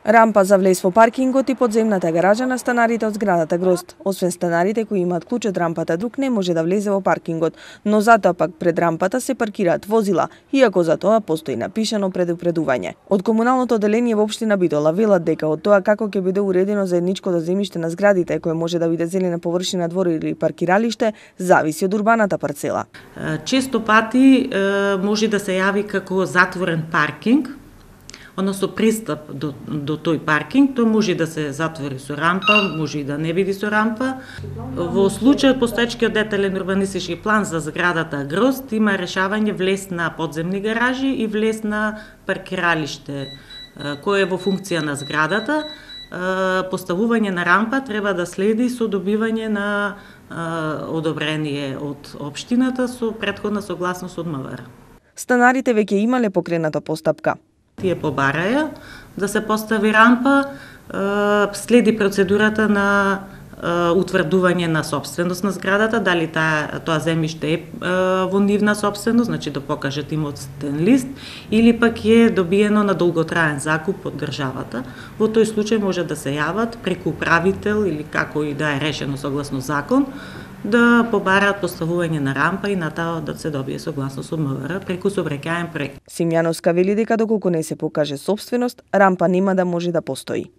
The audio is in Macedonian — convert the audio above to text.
Рампа за влез во паркингот и подземната гаража на станарите од зградата Грозд. Освен станарите кои имаат клуч од рампата, друг не може да влезе во паркингот, но затоа пак пред рампата се паркираат возила, иако за тоа постои напишано предупредување. Од комуналното одделение во општина Битола велат дека од тоа како ќе биде уредено заедничкото земјиште на зградите, кое може да биде зелена површина, двор или паркиралиште, зависи од урбаната парцела. Често пати може да се јави како затворен паркинг, односно пристап до тој паркинг, тој може да се затвори со рампа, може и да не биде со рампа. Во случајот постоечкиот детален урбанистички план за зградата Грозд има решавање влез на подземни гаражи и влез на паркиралиште, кој е во функција на зградата. Поставување на рампа треба да следи со добивање на одобрение од општината со претходна согласност од МВР. Станарите веќе имале покрената постапка. Тие побараја да се постави рампа, следи процедурата на утврдување на собственост на зградата, дали тоа земјиште е во нивна собственост, значи да покажат имотстен лист, или пак е добиено на долготраен закуп од државата. Во тој случај може да се јават преку управител или како и да е решено согласно закон, да побараат поставување на рампа и на таа да се добие согласност од МВР преку сообраќаен проект. Симјановска вели дека доколку не се покаже собственост, рампа нема да може да постои.